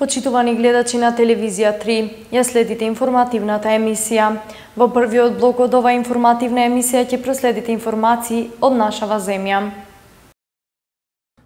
Почитувани гледачи на телевизија 3, ја следите информативната емисија. Во првиот блок од оваа информативна емисија ќе проследите информации од нашава земја.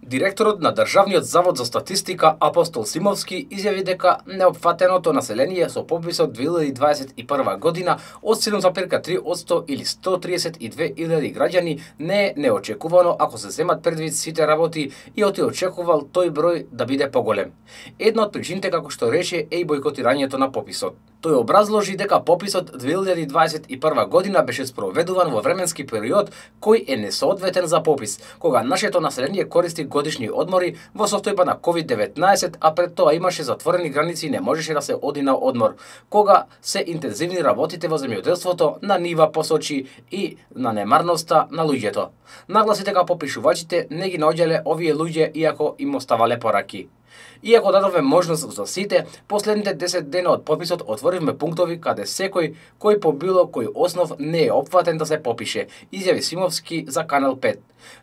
Директорот на Државниот завод за статистика Апостол Симовски изјави дека неопфатеното население со пописот 2021 година од 7,3% или 132.000 граѓани не е неочекувано ако се земат предвид сите работи и очекувал тој број да биде поголем. Една од причините како што рече е и бојкотирањето на пописот. Тој образложи дека пописот 2021 година беше спроведуван во временски период кој е несоодветен за попис, кога нашето население користи годишни одмори во состојба на COVID-19, а пред тоа имаше затворени граници и не можеше да се оди на одмор, кога се интензивни работите во земјоделството, на нива посочи и на немарноста на луѓето. Нагласи дека попишувачите не ги наоѓале овие луѓе иако им оставале пораки. Иако дадове можност за сите, последните 10 дена од пописот отворивме пунктови каде секој кој по било кој основ не е опфатен да се попише, изјави Симовски за Канал 5.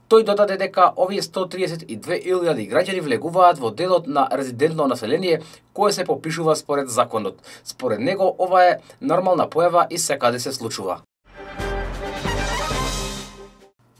Тој додаде дека овие 132.000 граѓани влегуваат во делот на резидентно население кое се попишува според законот. Според него ова е нормална појава и секаде се случува.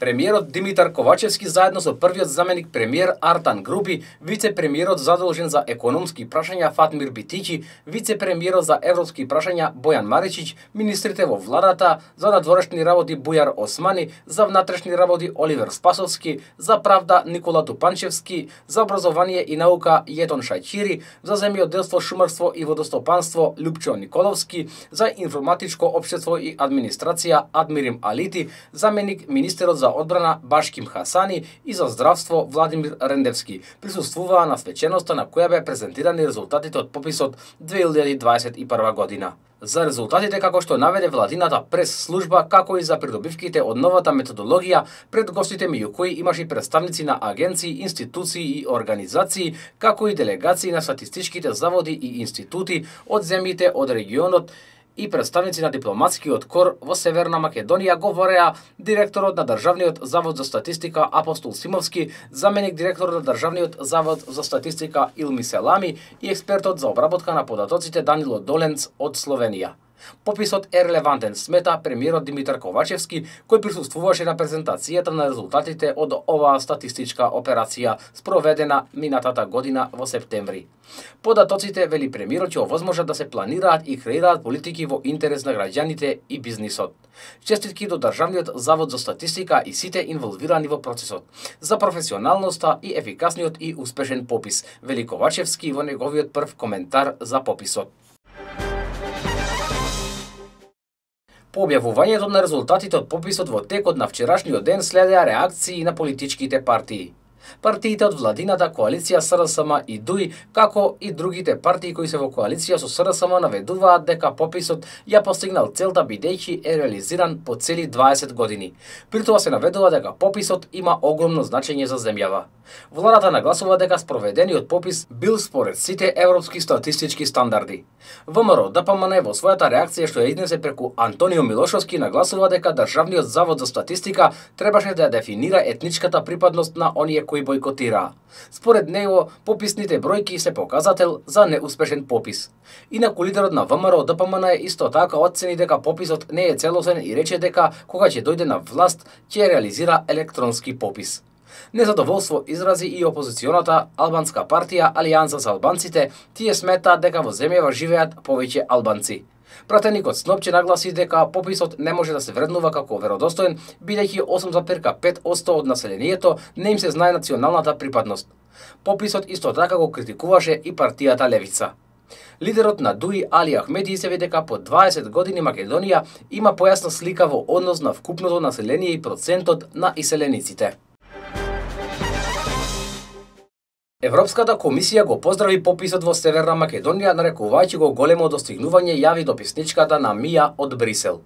Премиерот Димитар Ковачевски заедно со првиот заменик премиер Артан Груби, вице-премиерот задолжен за економски прашања Фатмир Битичи, вице-премиерот за европски прашања Бојан Маричич, министрите во владата за надворешни работи Бујар Османи, за внатрешни работи Оливер Спасовски, за правда Никола Тупанчевски, за образование и наука Јетон Шајчири, за земјоделство, шумарство и водостопанство Лупчо Николовски, за информатичко општество и администрација Адмирим Алити, заменик министерот за одбрана Башким Хасани и за здравство Владимир Рендевски присуствуваа на свеченоста на која беа презентирани резултатите од пописот 2021 година. За резултатите како што наведе владината прес-служба, како и за придобивките од новата методологија, пред гостите меѓу кои имаше представници на агенции, институции и организации, како и делегации на статистичките заводи и институти од земјите од регионот и представници на дипломатскиот кор во Северна Македонија, говореа директорот на Државниот завод за статистика Апостол Симовски, заменик директорот на Државниот завод за статистика Илми Селами и експертот за обработка на податоците Данило Доленц од Словенија. Пописот е релевантен, смета премиерот Димитар Ковачевски, кој присуствуваше на презентацијата на резултатите од оваа статистичка операција спроведена минатата година во септември. Податоците, вели премиерот, ќе овозможат да се планираат и креираат политики во интерес на граѓаните и бизнисот. Честитки до Државниот завод за статистика и сите инволвирани во процесот за професионалноста и ефикасниот и успешен попис, вели Ковачевски во неговиот прв коментар за пописот. По објавувањето на резултатите од пописот во текот на вчерашниот ден следеа реакции на политичките партии. Партиите од владината коалиција СРСМ и ДУИ, како и другите партии кои се во коалиција со СРСМ, наведуваат дека пописот ја постигнал целта бидејќи е реализиран по цели 20 години. При тоа се наведува дека пописот има огромно значење за земјава. Владата нагласува дека спроведениот попис бил според сите европски статистички стандарди. ВМРО ДПМН во својата реакција што ја изнесе преку Антонио Милошовски нагласува дека Државниот завод за статистика требаше да дефинира етничката припадност на оние кои бојкотираа. Според него, пописните бројки се показател за неуспешен попис. Инаку лидерот на ВМРО ДПМН исто така оцени дека пописот не е целосен и рече дека кога ќе дојде на власт ќе реализира електронски попис. Незадоволство изрази и опозиционата албанска партија Алијанса за албанците, тие сметаат дека во земјава живеат повеќе албанци. Пратеникот Снопче нагласи дека пописот не може да се вреднува како веродостоен, бидејќи 8,5% од населението не им се знае националната припадност. Пописот исто така го критикуваше и партијата Левица. Лидерот на ДУИ Али Ахмеди изјави дека по 20 години Македонија има појасна слика во однос на вкупното население и процентот на иселениците. Европската комисија го поздрави пописот во Северна Македонија, нарекувајќи го големо достигнување, јави дописничката на Мија од Брисел.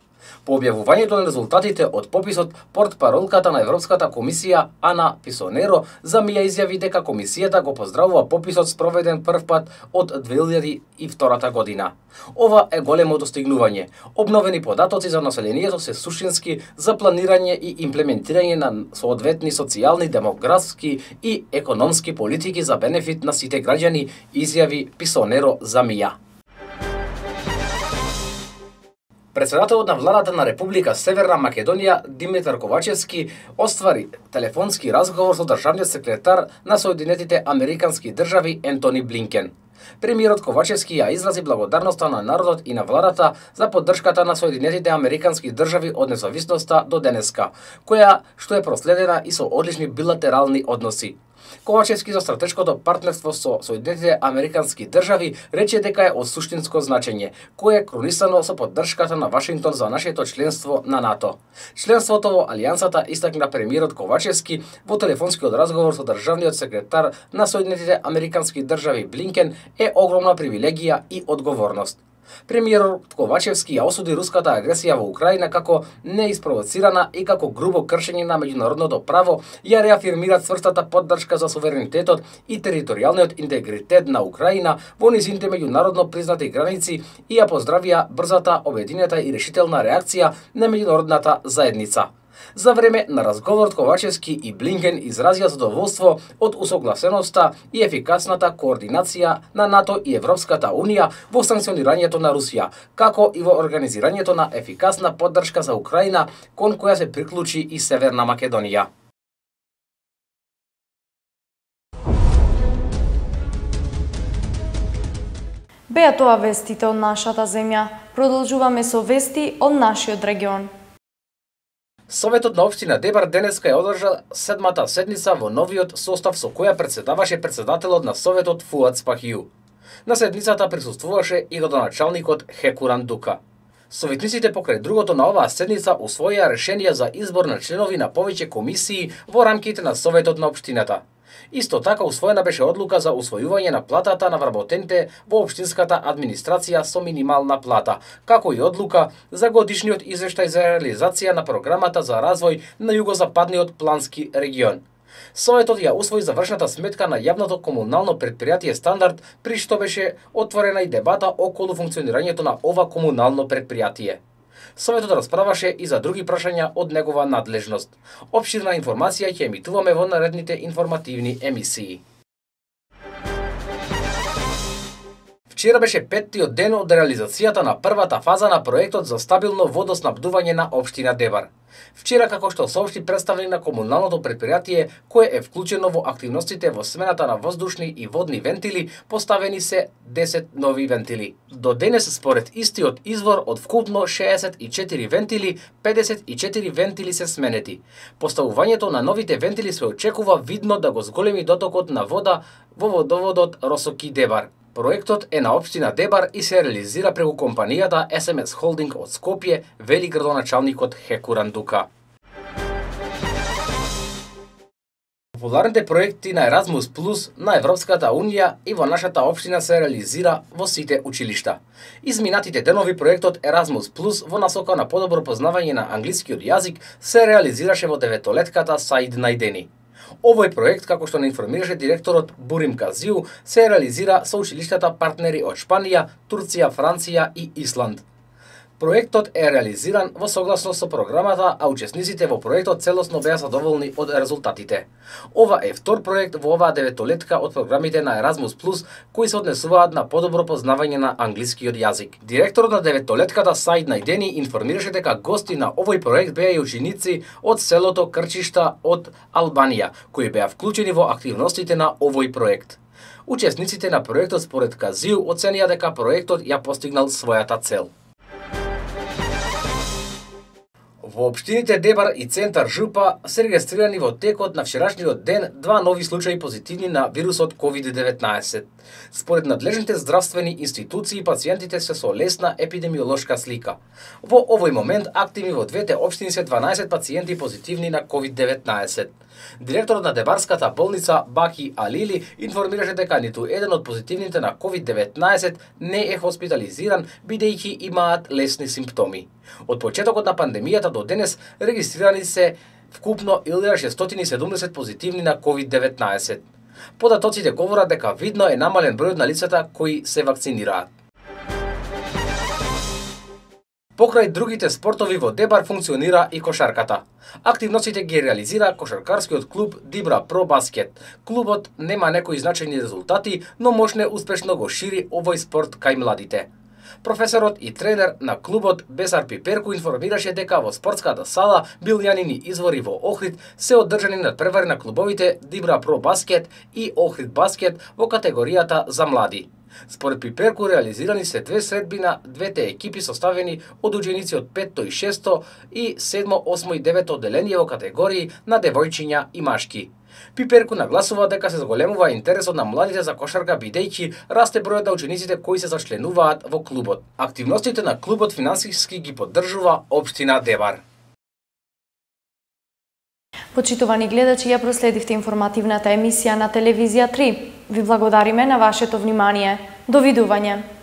По објавувањето на резултатите од пописот, портпаролката на Европската комисија Ана Писонеро Замија изјави дека комисијата го поздравува пописот спроведен првпат од 2002 година. Ова е големо достигнување. Обновени податоци за населението се суштински за планирање и имплементирање на соодветни социјални, демографски и економски политики за бенефит на сите граѓани, изјави Писонеро Замија. Председателот на владата на Република Северна Македонија Димитар Ковачевски оствари телефонски разговор со државниот секретар на Соединетите Американски држави Ентони Блинкен. Премиерот Ковачевски ја изрази благодарноста на народот и на владата за поддршката на Соединетите Американски држави од независноста до денеска, која што е проследена и со одлични билатерални односи. Ковачевски за стратешкото партнерство со Соединетите Американски држави рече дека е од суштинско значење, кое е кронисано со поддршката на Вашингтон за нашето членство на НАТО. Членството во алијансата, истакна премиерот Ковачевски во телефонскиот разговор со државниот секретар на Соединетите Американски држави Блинкен, е огромна привилегија и одговорност. Премиерот Ковачевски ја осуди руската агресија во Украина како неиспровоцирана и како грубо кршење на меѓународното право, ја реафирмира цврстата поддршка за суверенитетот и територијалниот интегритет на Украина во низините меѓународно признати граници и ја поздравија брзата, обединета и решителна реакција на меѓународната заедница. За време на разговорот Ковачевски и Блинкен изразија задоволство од усогласеноста и ефикасната координација на НАТО и Европската Унија во санкционирањето на Русија, како и во организирањето на ефикасна поддршка за Украина, кон која се приклучи и Северна Македонија. Беа тоа вестите од нашата земја. Продолжуваме со вести од нашиот регион. Советот на општина Дебар денеска ја одржа 7-та седница во новиот состав со која председаваше председателот на Советот Фуад Спахију. На седницата присуствуваше и градоначалникот Хекуран Дука. Советниците покрај другото на оваа седница усвоија решенија за избор на членови на повеќе комисии во рамките на Советот на општината. Исто така усвоена беше одлука за усвојување на платата на вработените во општинската администрација со минимална плата, како и одлука за годишниот извештај за реализација на програмата за развој на југозападниот плански регион. Советот ја усвои завршната сметка на јавното комунално претпријатие Стандард, при што беше отворена и дебата околу функционирањето на ова комунално претпријатие. Советот расправаше и за други прашања од негова надлежност. Опширна информација ќе емитуваме во наредните информативни емисии. Вчера беше 5-тиот ден од реализацијата на првата фаза на проектот за стабилно водоснабдување на општина Дебар. Вчера, како што соопшти представник на комуналното претпријатие, кое е вклучено во активностите во смената на воздушни и водни вентили, поставени се 10 нови вентили. До денес, според истиот извор, од вкупно 64 вентили, 54 вентили се сменети. Поставувањето на новите вентили се очекува видно да го зголеми дотокот на вода во водоводот Росоки Дебар. Проектот е на општина Дебар и се реализира преку компанијата SMS Holding од Скопје, вели градоначалникот Хекуран Дука. Популарните проекти на Еразмус Плюс на Европската Унија и во нашата општина се реализира во сите училишта. Изминатите денови проектот Еразмус Плюс во насока на подобро познавање на англискиот јазик се реализираше во деветолетката Саид Најдени. Овој проект, како што не информираше директорот Бурим Казиу, се реализира со училиштата партнери од Шпанија, Турција, Франција и Исланд. Проектот е реализиран во согласност со програмата, а учесниците во проектот целосно беа задоволни од резултатите. Ова е втор проект во оваа деветолетка од програмите на Еразмус Плюс, кои се однесуваат на подобро познавање на англискиот јазик. Директорот на деветолетката Саид Најдени информираше дека гости на овој проект беа и ученици од селото Крчишта од Албанија, кои беа вклучени во активностите на овој проект. Учесниците на проектот според Казиу оценија дека проектот ја постигнал својата цел. Во општините Дебар и Центар Жупа се регистрирани во текот на вчерашниот ден 2 нови случаи позитивни на вирусот COVID-19. Според надлежните здравствени институции, пациентите се со лесна епидемиолошка слика. Во овој момент активни во двете општини се 12 пациенти позитивни на COVID-19. Директорот на Дебарската болница Баки Алили информираше дека ниту еден од позитивните на COVID-19 не е хоспитализиран, бидејќи имаат лесни симптоми. Од почетокот на пандемијата до денес регистрирани се вкупно 1670 позитивни на COVID-19. Податоците говорат дека видно е намален бројот на лицата кои се вакцинираат. Покрај другите спортови во Дебар функционира и кошарката. Активностите ги реализира кошаркарскиот клуб Дибра Про Баскет. Клубот нема некои значајни резултати, но можне успешно го шири овој спорт кај младите. Професорот и тренер на клубот Бесар Пиперку информираше дека во спортската сала билјанини извори во Охрид се одржани надпревари на клубовите Дибра Про Баскет и Охрид Баскет во категоријата за млади. Според Пиперку реализирани се две средби на двете екипи составени од ученици од 5-то и 6-то и 7-мо, 8-мо и 9-то одделение во категории на девојчиња и машки. Пиперку нагласува дека се зголемува интересот на младите за кошарка бидејќи расте бројот на учениците кои се зачленуваат во клубот. Активностите на клубот финансиски ги поддржува општина Дебар. Почитувани гледачи, ја проследивте информативната емисија на телевизија 3. Ви благодариме на вашето внимание. Довидување.